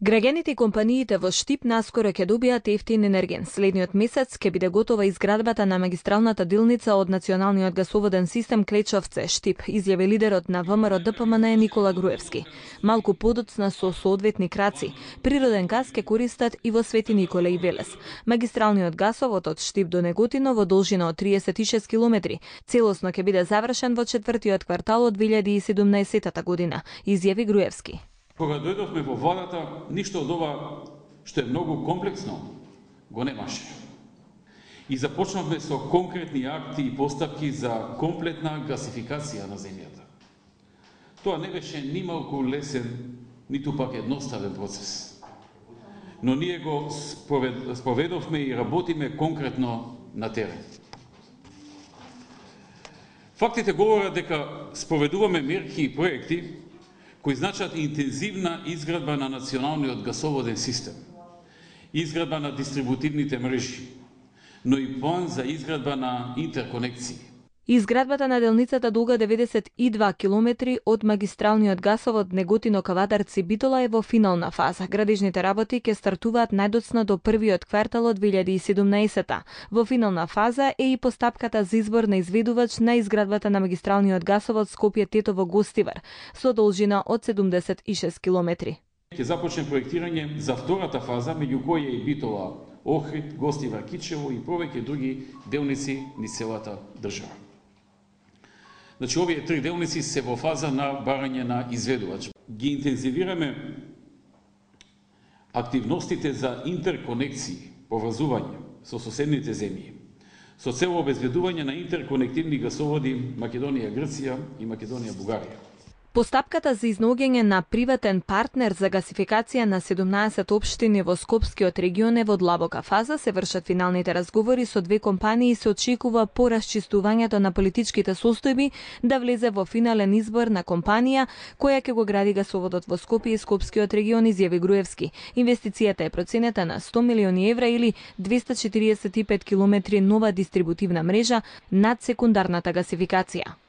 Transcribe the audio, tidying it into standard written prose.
Граѓаните и компаниите во Штип наскоро ќе добијат ефтин енерген. Следниот месец ќе биде готова изградбата на магистралната делница од националниот гасоводен систем Клечовце-Штип, изјави лидерот на ВМРО ДПМН Никола Груевски. Малку подоцна со соодветни краци, природен газ ќе користат и во Свети Николе и Велес. Магистралниот гасовод од Штип до Неготино во должина од 36 километри целосно ќе биде завршен во четвртиот квартал од 2017 година, изјави Груевски. Кога дојдовме во владата, ништо од ова што е многу комплексно го немаше. И започнавме со конкретни акти и постапки за комплетна гасификација на земјата. Тоа не беше ни малку лесен, ниту пак едноставен процес. Но ние го споведовме и работиме конкретно на терен. Фактите говорат дека споведуваме мерки и проекти кои значат интензивна изградба на националниот гасоводен систем, изградба на дистрибутивните мрежи, но и план за изградба на интерконекции. Изградбата на делницата долга 92 километри од магистралниот гасовод Неготино-Кавадарци-Битола е во финална фаза. Градежните работи ќе стартуваат најдоцна до првиот квартал од 2017. Во финална фаза е и постапката за избор на изведувач на изградбата на магистралниот гасовод Скопје-Тетово-Гостивар со должина од 76 километри. Ќе започне проектирање за втората фаза, меѓу која и Битола, Охрид, Гостивар, Кичево и повеќе други делници низ целата држава. Значи, овие три делници се во фаза на барање на изведувач. Ги интензивираме активностите за интерконекции, поврзување со соседните земји, со цел обезбедување на интерконективни гасоводи Македонија-Грција и Македонија-Бугарија. Постапката за изнаоѓање на приватен партнер за гасификација на 17 општини во Скопскиот регион е во длабока фаза. Се вршат финалните разговори со две компании и се очекува по расчистувањето на политичките состојби да влезе во финален избор на компанија која ќе го гради гасоводот во Скопје и Скопскиот регион, изјави Груевски. Инвестицијата е проценета на 100 милиони евра или 245 километри нова дистрибутивна мрежа над секундарната гасификација.